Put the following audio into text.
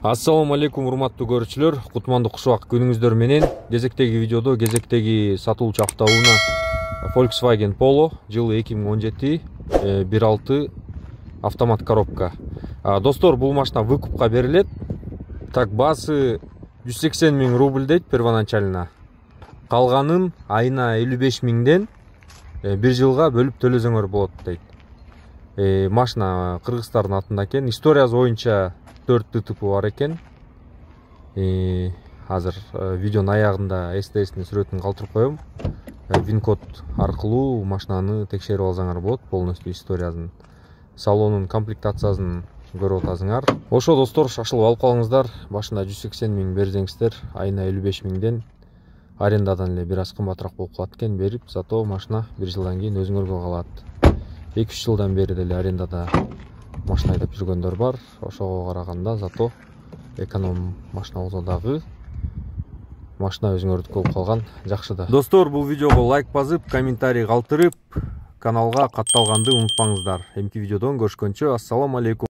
Ассаламу алейкум, урматтуу көрүүчүлөр. Кутмандуу кушубак күнүңүздөр менен. Кезектеги видеодо кезектеги сатылуучу автоунаа Volkswagen Polo жылы 2017 1.6 автомат коробка. Достор, бул машина выкупка берилет. Так, баасы 180 000 рубль дейт первоначально. Калганын айына 55 000ден 1 жылга бөлүп төлөсөңөр болот дейт. Машина кыргыздардын атында экен. Историясы боюнча 4 ДТП бар экен. Азыр видеонун аягында СТС'нин сүрөтүн калтырып коем. Вин-код аркылуу машинаны текшерип алсаңар болот. Полностью историясын, салонун комплектациясын көрүп атасыңар. Ошо достор, шашылып алып калыңыздар. Башында 180 000 берсеңиздер, айына 55 000ден арендадан эле бир аз кымбатыраак болуп калат экен. Берип, зато машина 1 жылдан кийин өзүңөргө калат. 2-3 жылдан бери деле арендада машина айдап жүргөндөр бар. Ошого караганда зато эконом машина болсо дагы машина өзүңөрдүкү болуп калган жакшы да. Достор, бул видеого лайк басып, комментарий калтырып, каналга катталганды унутпаңыздар. Эмки видеодон көрүшкөнчө, ассаламу алейкум.